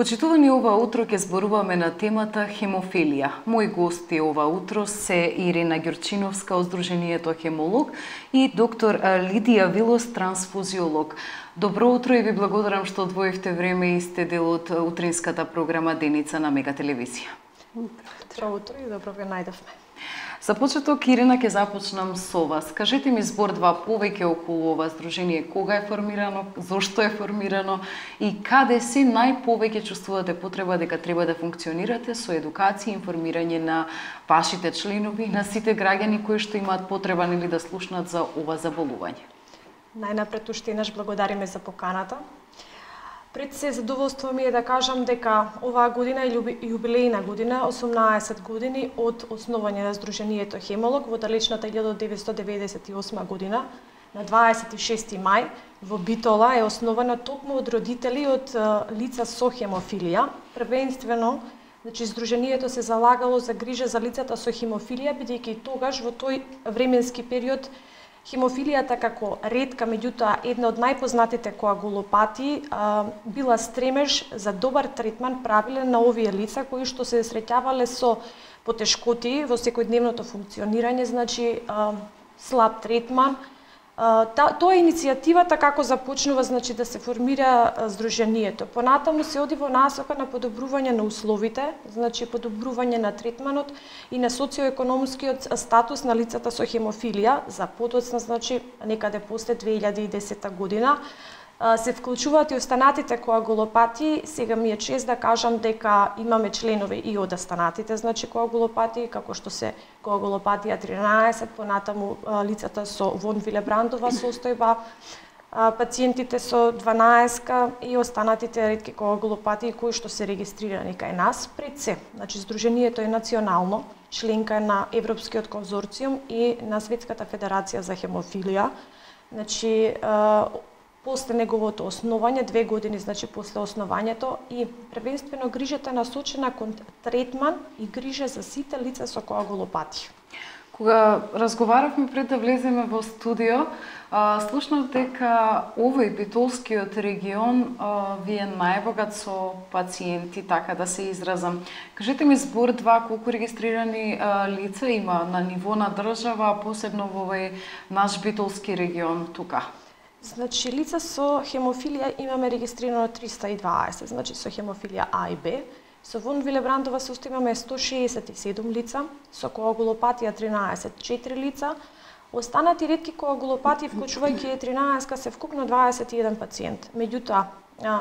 Почитувани, ова утро ќе зборуваме на темата хемофилија. Мои гости ова утро се Ирина Ѓурчиновска од Сдруженијето Хемолог и доктор Лидија Вилос, трансфузиолог. Добро утро и ви благодарам што одвоивте време и сте дел од утринската програма Деница на Мега телевизија. Добро утро и добро ве најдовме. За почеток, Ирина, ќе започнам со вас. Кажете ми збор-два повеќе околу ова здружение, кога е формирано, зошто е формирано и каде се најповеќе чувствувате потреба дека треба да функционирате со едукација и информирање на вашите членови, на сите граѓани кои што имаат потреба или да слушнат за ова заболување. Најнапред уште еднаш благодариме за поканата. Пред се задоволство ми е да кажам дека оваа година е јубилејна година, 18 години од основање на Сдруженијето Хемолог во далечната 1998 година. На 26 мај во Битола е основана токму од родители од лица со хемофилија. Првенствено, Сдруженијето се залагало за грижа за лицата со хемофилија, бидејќи тогаш во тој временски период хемофилијата како ретка, меѓутоа една од најпознатите коагулопатии, била стремеж за добар третман правилен на овие лица кои што се среќавале со потешкоти во секојдневното функционирање, слаб третман. Тоа е иницијативата како започнува да се формира Сдруженијето. Понатаму се оди во насока на подобрување на условите, подобрување на третманот и на социоекономскиот статус на лицата со хемофилија. За подоцна, некаде после 2010 година, се вклучуваат и останатите коагулопатии. Сега ми е чест да кажам дека имаме членови и од останатите, коагулопатии, како што се коагулопатија 13, понатаму лицата со вон Вилебрандова состојба, пациентите со 12 и останатите ретки коагулопатии кои што се регистрирани кај нас. Пред се, Сдруженијето е национално, членка на Европскиот конзорциум и на Светската федерација за хемофилија. После неговото основање, 2 години после основањето, и првенствено грижата насочена кон третман и грижа за сите лица со коагулопатија. Кога разговаравме пред да влеземе во студио, слушнав дека овој битолскиот регион ви е најбогат со пациенти, така да се изразам. Кажете ми збор-два колку регистрирани лица има на ниво на држава, посебно во овој наш битолски регион тука? Лица со хемофилија имаме регистрирано 320, со хемофилија А и Б. Со вон Вилебрандова состојба имаме 167 лица, со коагулопатија 13, 4 лица. Останати ретки коагулопатии, вклучувајќи 13, се вкупно 21 пациент. Меѓутоа,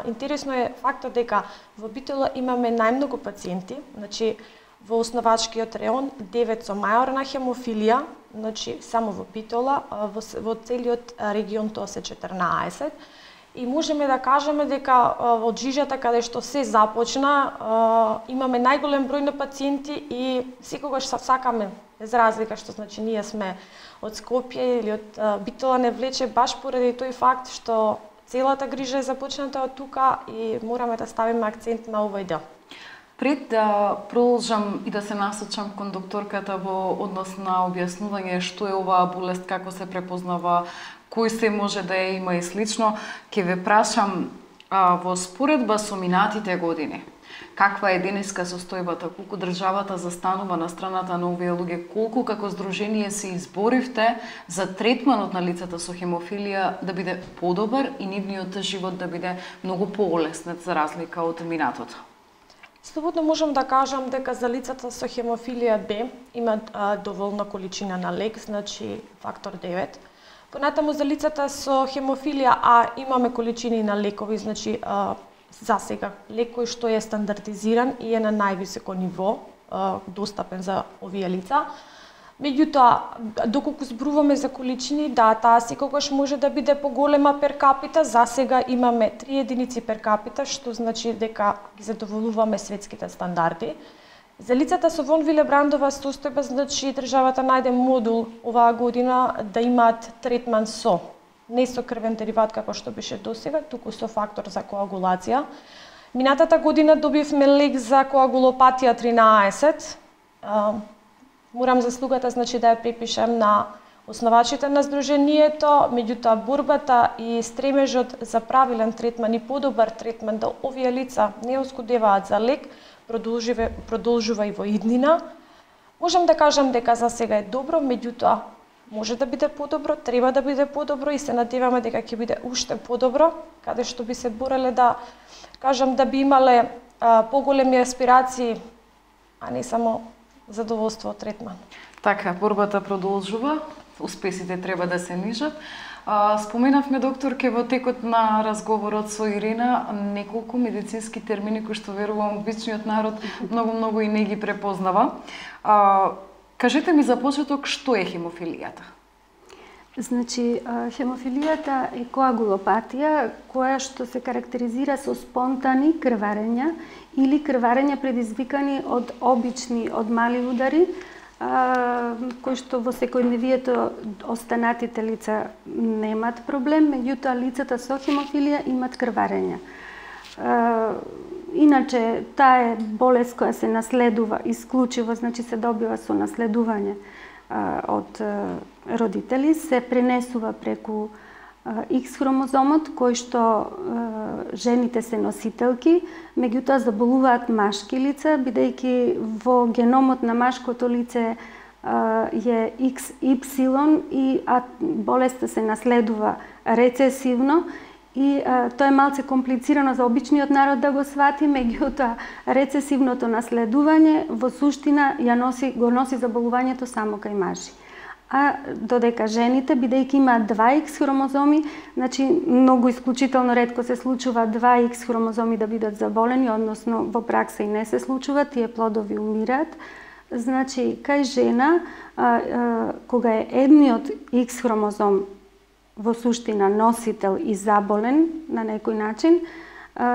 интересно е фактот дека во Битола имаме најмногу пациенти, во основачкиот реон 9 со мајорна хемофилија, само во Битола, во целиот регион тоа се 14. И можеме да кажеме дека од жижата каде што се започна, имаме најголем број на пациенти и секогаш сакаме, без разлика што ние сме од Скопје или од Битола, не влече баш поради тој факт што целата грижа е започната од тука и мораме да ставиме акцент на овој дел. Пред да продолжам и да се насочам кон докторката во однос на објаснување што е оваа болест, како се препознава, кој се може да ја има и слично, ќе ве прашам во споредба со минатите години, каква е денеска состојбата, колку државата застанува на страната на овие луѓе, колку како здружение се изборивте за третманот на лицата со хемофилија да биде подобар и нивниот живот да биде многу поолеснет за разлика од минатото? Слободно можам да кажам дека за лицата со хемофилија Б има доволна количина на лек, фактор 9. Понатаму за лицата со хемофилија А имаме количини на лекови, за сега лек кој што е стандардизиран и е на највисоко ниво, достапен за овие лица. Меѓутоа, доколку зборуваме за количини, таа секогаш може да биде поголема пер капита. За сега имаме 3 единици пер капита, што значи дека ги задоволуваме светските стандарди. За лицата со вон Вилебрандова состојба, државата најде модул оваа година да имаат третман не со крвен дериват како што беше досега, туку со фактор за коагулација. Минатата година добивме лек за коагулопатија 13. Морам заслугата да ја препишам на основачите на здруженијето, меѓутоа борбата и стремежот за правилен третман и подобар третман да овие лица не оскудеваат за лек, продолжува и во иднина. Можам да кажам дека за сега е добро, меѓутоа може да биде подобро, треба да биде подобро и се надеваме дека ќе биде уште подобро, каде што би се бореле да кажам да би имале поголеми аспирации, а не само задоволство од третман. Така, борбата продолжува, успесите треба да се нижат. Споменавме, докторке, во текот на разговорот со Ирина неколку медицински термини кои што верувам обичниот народ многу и не ги препознава. Кажете ми за почеток што е хемофилијата? Значи, хемофилијата е коагулопатија која што се карактеризира со спонтани крварења или крварења предизвикани од обични, од мали удари, кои што во секојдневието останатите лица немат проблем, меѓутоа лицата со хемофилија имат крварења. Иначе, таа е болест која се наследува исклучиво, значи се добива со наследување од родители, се пренесува преку X хромозомот, кој што жените се носителки, меѓутоа заболуваат машки лица, бидејќи во геномот на машкото лице е XY и болеста се наследува рецесивно и тоа е малце комплицирано за обичниот народ да го свати, меѓутоа рецесивното наследување во суштина го носи заболувањето само кај мажи. А додека жените, бидејќи имаат 2X хромозоми, значи многу исклучително ретко се случува 2X хромозоми да бидат заболени, односно во пракса и не се случува, тие плодови умираат. Значи, кај жена, кога е едниот X хромозом во суштина носител и заболен на некој начин,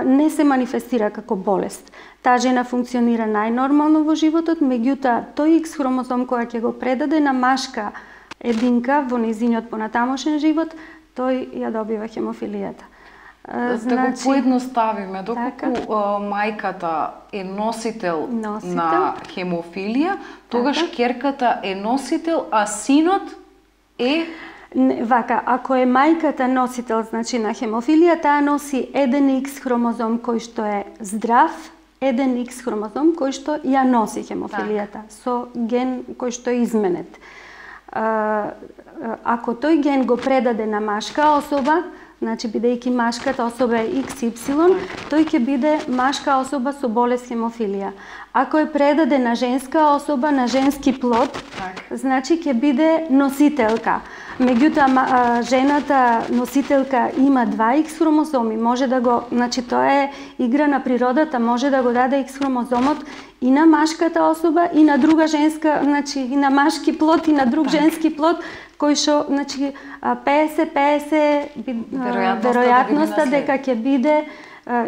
не се манифестира како болест. Таа жена функционира најнормално во животот, меѓутоа тој X хромозом која ќе го предаде на машка единка во нејзиниот понатамошен живот, тој ја добива хемофилијата. Да го поедноставиме, доколку мајката е носител на хемофилија, тогаш ќерката е носител, а синот е... Вака, ако е мајката носител, значи на хемофилија, таа носи еден X хромозом кој што е здрав, еден X хромозом кој што ја носи хемофилијата, со ген кој што е изменет. Ако тој ген го предаде на машка особа, значи бидејќи машката особа е XY, тој ќе биде машка особа со болест хемофилија. Ако е предаде на женска особа, на женски плод, значи ќе биде носителка. Меѓутоа, жената носителка има 2X хромозоми, може да го, значи тоа е игра на природата, може да го даде X хромозомот и на машката особа и на друга женска, значи и на машки плод и на друг женски плод, кој што, значи 50-50 веројатноста дека ќе биде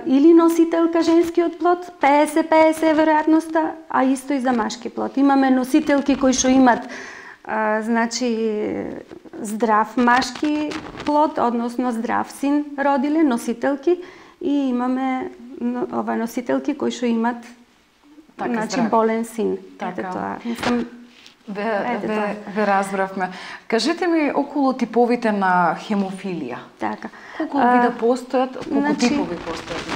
или носителка женскиот плод, 50-50 веројатноста, а исто и за машки плод. Имаме носителки кои што имат значи здрав машки плод, односно здрав син родиле, носителки, и имаме носителки кои што имат значи болен син. Ете тоа. Ве разбравме. Кажете ми околу типовите на хемофилија. Така. Колку вида постојат, колку типови постојат?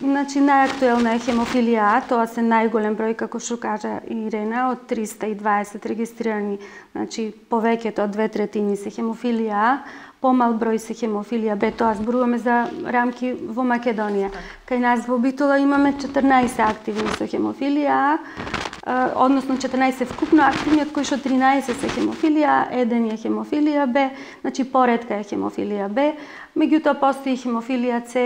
Значи, најактуелна е хемофилија А, тоа се најголем број, како што кажа Ирена, од 320 регистрирани, значи повеќето од 2/3 се хемофилија А, помал број се хемофилија Б, тоа зборуваме за рамки во Македонија. Кај нас во Битола имаме 14 активни со хемофилија А, односно 14 вкупно активни, од кои што 13 се хемофилија А, 1 е хемофилија Б, значи поретка е хемофилија Б, меѓутоа постои хемофилија С,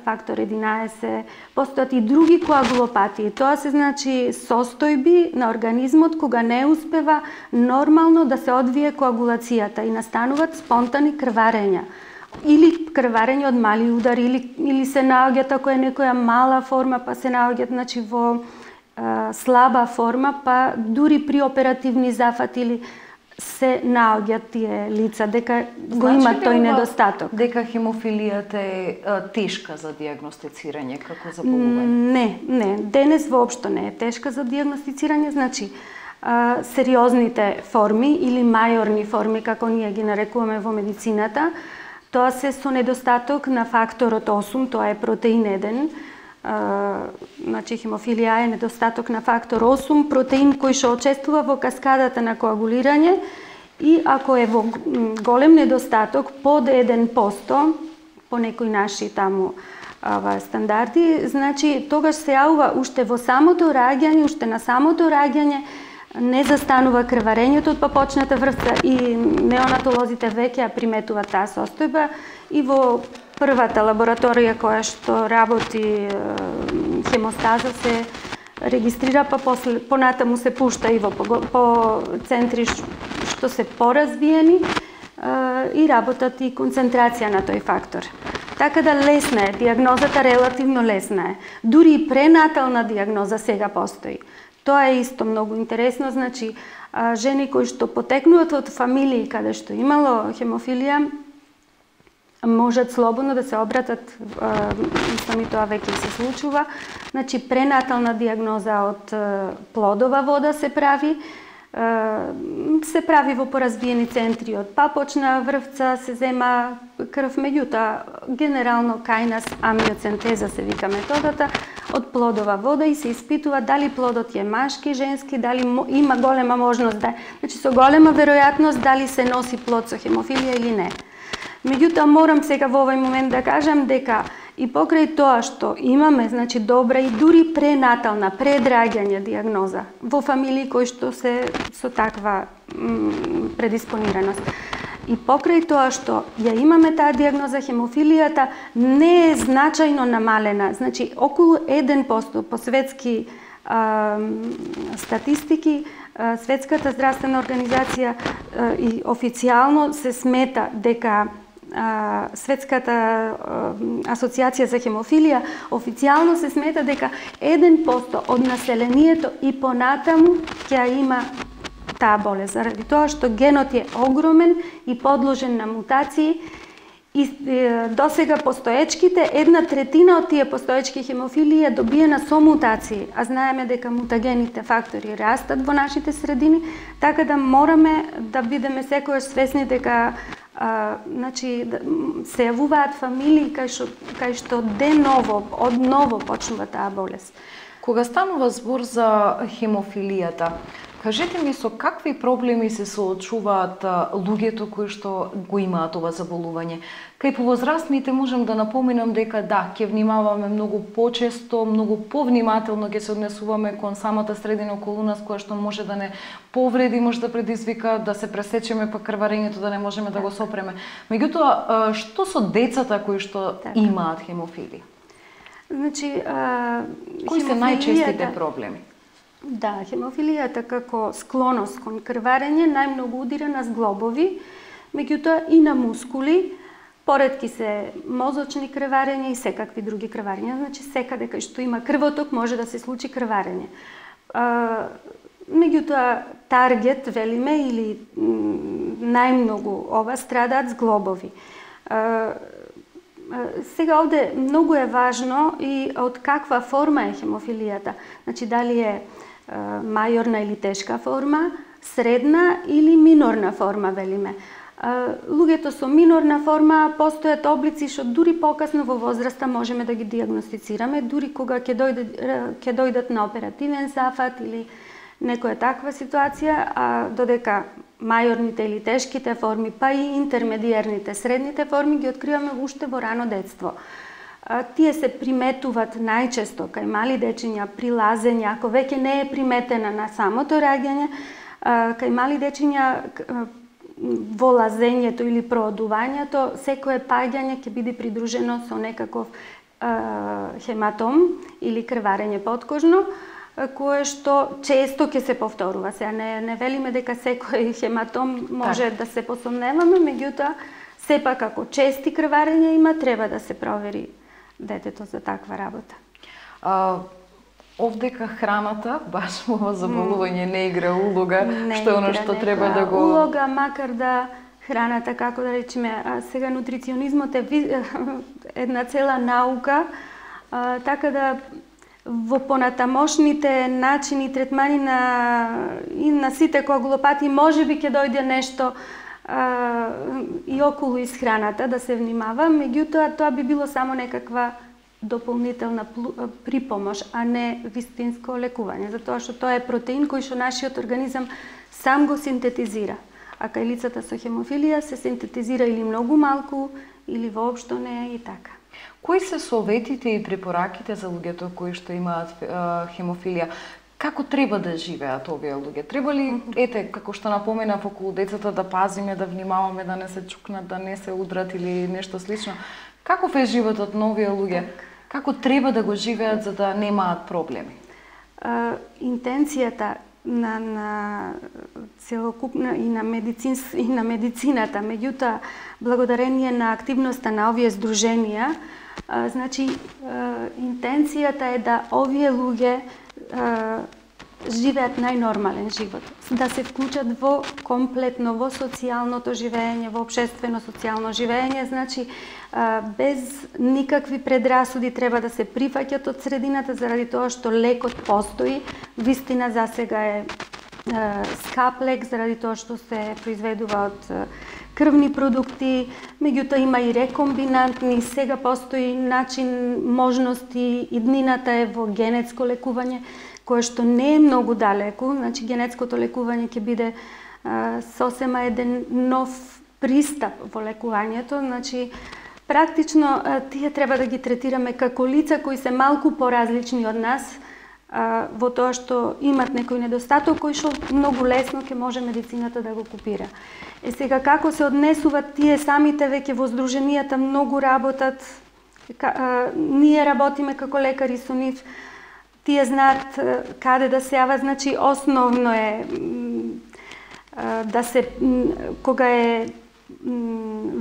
фактор 11, постојат и други коагулопатии. Тоа се значи состојби на организмот кога не успева нормално да се одвие коагулацијата и настануваат спонтани крварења. Или крварење од мали удари, или се наоѓаат ако е некоја мала форма, па се наоѓаат значи во слаба форма, па дури при оперативни зафати или се наоѓаат тие лица дека го имат тој недостаток. Дека хемофилијата е тешка за дијагностицирање како заболување? Не, денес воопшто не е тешка за дијагностицирање, значи сериозните форми или мајорни форми, како ние ги нарекуваме во медицината. Тоа се со недостаток на факторот 8, тоа е протеин 1. Значи хемофилија е недостаток на фактор 8, протеин кој што учествува во каскадата на коагулирање и ако е во голем недостаток под 1%, по некои наши таму стандарди, значи тогаш се јавува уште во самото раѓање, уште на самото раѓање не застанува крварењето од папочната врвца и неонатолозите веќе ја приметуваат таа состојба и во првата лабораторија која што работи хемостаза се регистрира, па после понатаму се пушта и во по центри што се поразвиени и работат и концентрација на тој фактор. Така да лесна е, диагнозата релативно лесна е. Дури и пренатална диагноза сега постои. Тоа е исто многу интересно, значи жени кои што потекнуваат од фамилии каде што имало хемофилија можат слободно да се обратат, сами тоа веќе се случува. Значи пренатална диагноза од плодова вода се прави во поразбиени центри од папочна врвца, се зема крв, меѓутоа генерално кај нас амиоцентеза се вика методата, од плодова вода и се испитува дали плодот е машки, женски, дали има голема можност да, значи со голема веројатност дали се носи плод со хемофилија или не. Меѓутоа морам сега во овој момент да кажам дека и покрај тоа што имаме, значи добра и дури пренатална, предраѓање диагноза во фамилии кои што се со таква предиспонираност. И покрај тоа што ја имаме таа диагноза, хемофилијата не е значајно намалена, значи околу 1% по светски статистики, Светската здравствена организација и официјално се смета дека Светската асоциација за хемофилија официјално се смета дека 1% од населението и понатаму ќе има таа болест, заради тоа што генот е огромен и подложен на мутации и досега постоечките, 1/3 од тие постоечки хемофилии е добиена со мутации, а знаеме дека мутагените фактори растат во нашите средини, така да мораме да бидеме секогаш свесни дека значи се јавуваат фамилии кај што деново, одново почнува таа болест. Кога станува збор за хемофилијата, кажете ми со какви проблеми се соочуваат луѓето кои што го имаат ова заболување? Кај повозрастните можам да напоменам дека да, ќе внимаваме многу почесто, многу повнимателно ќе се однесуваме кон самата средина околу нас која што може да не повреди, може да предизвика да се пресечеме па крварењето да не можеме да го сопреме. Меѓутоа, што со децата кои што имаат хемофилија? Значи, кои се најчестите проблеми? Да, хемофилијата како склоност кон крварење најмногу удира на зглобови, меѓутоа и на мускули, поретки се мозочни крварења и секакви други крварења. Значи секаде кај што има крвоток може да се случи крварење. Меѓутоа таргет, велиме, или најмногу ова страдаат зглобови. Сега овде многу е важно и од каква форма е хемофилијата. Значи дали е мајорна или тешка форма, средна или минорна форма, велиме. Луѓето со минорна форма постојат облици што дури покасно во возраста можеме да ги диагностицираме, дури кога ќе дојдат на оперативен зафат или некоја таква ситуација, а додека мајорните или тешките форми, па и интермедиерните, средните форми ги откриваме уште во рано детство. Тие се приметуваат најчесто кај мали дечиња при лазење, ако веќе не е приметена на самото раѓање, кај мали дечиња во лазењето или проодувањето, секое паѓање ќе биде придружено со некаков хематом или крварење подкожно, кое што често ќе се повторува. Сега не велиме дека секој хематом може да се посомневаме, меѓутоа сепак ако чести крварења има, треба да се провери детето за таква работа. Овдека храната, баш во заболување не игра улога, што е оно што треба да го... Улога, макар да храната, како да речеме, сега нутриционизмот е една цела наука, така да во понатамошните начини третмани и на сите коагулопати можеби ќе дојде нешто и околу исхраната да се внимава, меѓутоа тоа би било само некаква дополнителна припомош, а не вистинско лекување, затоа што тоа е протеин кој што нашиот организам сам го синтетизира. А кај лицата со хемофилија се синтетизира или многу малку, или воопшто не и така. Кои се советите и препораките за луѓето кои што имаат хемофилија? Како треба да живеат овие луѓе? Треба ли, како што напоменав околу децата, да пазиме, да внимаваме, да не се чукнат, да не се удрат или нешто слично? Каков е животот на овие луѓе? Како треба да го живеат за да немаат проблеми? Интенцијата на целокупна и на медицината, меѓутоа благодарение на активноста на овие здруженија, значи интенцијата е да овие луѓе живеат најнормален живот, да се вклучат во комплетно во социјалното живење, во општествено социјално живење, значи без никакви предрасуди треба да се прифаќат од средината заради тоа што лекот постои, вистина засега е скап лек заради тоа што се произведува од крвни продукти, меѓутоа има и рекомбинантни, сега постои начин, можности, иднината е во генетско лекување, кое што не е многу далеку, значи генетското лекување ќе биде сосема еден нов пристап во лекувањето, значи практично тие треба да ги третираме како лица кои се малку поразлични од нас, во тоа што имат некој недостаток кој што многу лесно ќе може медицината да го купира. Сега како се однесуваат тие самите веќе во здруженијата многу работат, ние работиме како лекари со нив, тие знаат каде да се јават, значи основно е да се кога е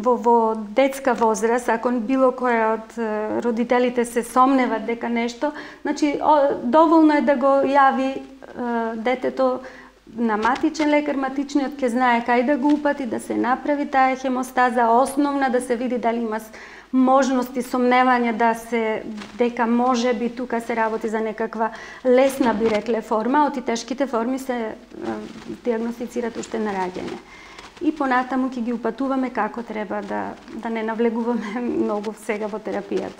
во детска возраст, ако било кој од родителите се сомневат дека нешто, значи доволно е да го јави детето на матичен лекар, матичниот ќе знае кај да го упати, да се направи таа хемостаза основна, да се види дали има можности, сомневања дека може би тука се работи за некаква лесна, би рекле, форма, од и тешките форми се диагностицираат уште на раѓање. И понатаму ќе ги упатуваме како треба да не навлегуваме многу сега во терапијата.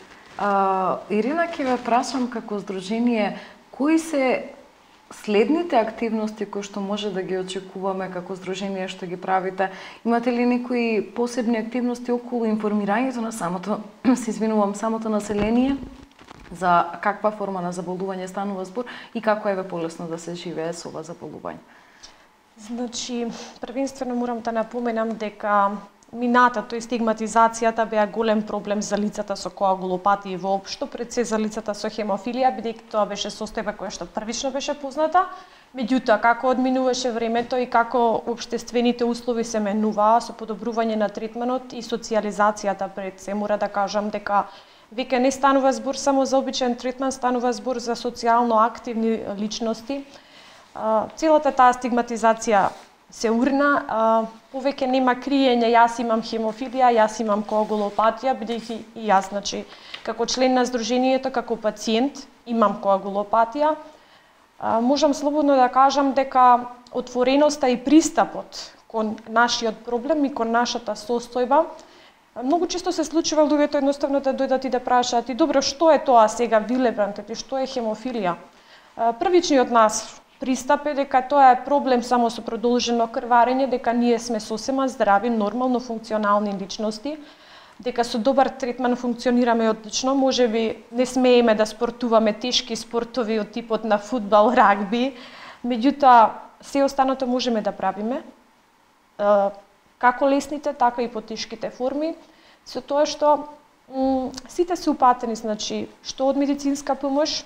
Ирина, ќе ве прашам како здружение, кои се следните активности кои што може да ги очекуваме како здружение што ги правите? Имате ли некои посебни активности околу информирањето на самото население за каква форма на заболување станува збор и како е полесно да се живее со ова заболување? Значи, првенствено морам да напоменам дека минатото и стигматизацијата беа голем проблем за лицата со коагулопатија воопшто, пред се за лицата со хемофилија, бидејќи тоа беше состојба која што првично беше позната. Меѓутоа, како одминуваше времето и како општествените услови се менуваа со подобрување на третманот и социјализацијата, пред се мора да кажам дека веќе не станува збор само за обичен третман, станува збор за социјално активни личности. Целата таа стигматизација се урна, повеќе нема криење, јас имам хемофилија, јас имам коагулопатија, бидејќи и јас, значи, како член на здружението, како пациент, имам коагулопатија. Можам слободно да кажам дека отвореноста и пристапот кон нашиот проблем и кон нашата состојба, многу често се случува луѓето едноставно да дојдат и да прашаат: "И добро, што е тоа сега Вилебранд, што е хемофилија?" Првичниот нас пристап е дека тоа е проблем само со продолжено крварење, дека ние сме сосема здрави, нормално функционални личности, дека со добар третман функционираме одлично, можеби не смееме да спортуваме тешки спортови од типот на фудбал, рагби, меѓутоа се останато можеме да правиме, како лесните, така и потешките форми, со тоа што сите се упатени, значи, што од медицинска помош,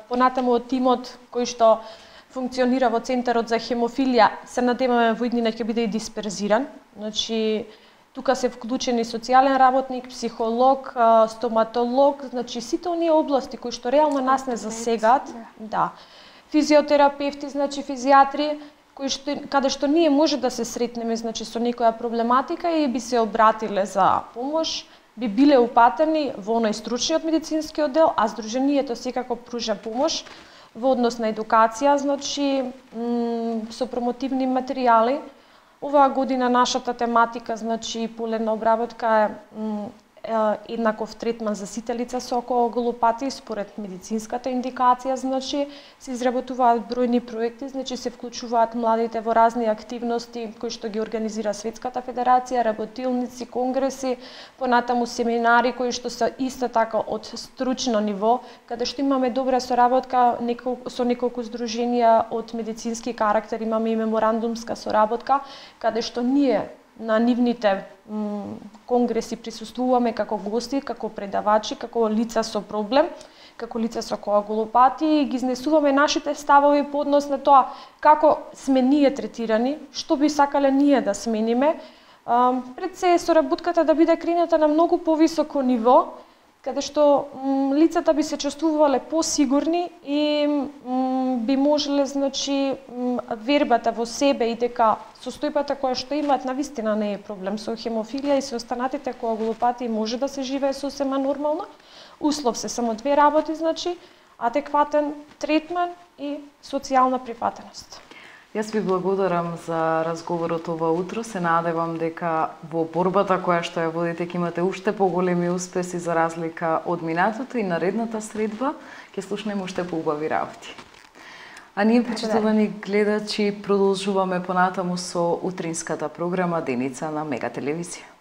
понатаму од тимот кој што функционира во Центарот за хемофилија, се надеваме во иднина ќе биде и дисперзиран. Значи, тука се вклучени социјален работник, психолог, стоматолог, значи сите оние области кои што реално нас не засегаат, да. Физиотерапевти, значи физијатри, каде што ние може да се сретнеме, значи со некоја проблематика и би се обратиле за помош, би биле упатени во оној стручниот медицински оддел, а здруженијето секако пружа помош во однос на едукација, значи со промотивни материјали. Оваа година нашата тематика, значи полена обработка е еднаков третман за сите лица со коагулопатии според медицинската индикација, значи се изработуваат бројни проекти, значи се вклучуваат младите во разни активности кои што ги организира Светската федерација, работилници, конгреси, понатаму семинари кои што се исто така од стручно ниво, каде што имаме добра соработка со неколку здруженија од медицински карактер, имаме и меморандумска соработка, каде што ние на нивните конгреси присуствуваме како гости, како предавачи, како лица со проблем, како лица со коагулопатии, ги изнесуваме нашите ставови по однос на тоа како сме ние третирани, што би сакале ние да смениме. Пред се соработката да биде кренета на многу повисоко ниво, каде што лицата би се чувствувале посигурни и би можеле, значи, вербата во себе и дека состојбата која што имаат навистина не е проблем. Со хемофилија и со останатите коагулопатии може да се живее сосема нормално. Услов се само две работи, значи, адекватен третман и социјална прифатеност. Јас ви благодарам за разговорот ова утро. Се надевам дека во борбата која што ја водите ќе имате уште поголеми успеси за разлика од минатото и наредната средба ќе слушнеме уште поубави работи. А ние, почитувани гледачи, продолжуваме понатаму со утринската програма Деница на Мега телевизија.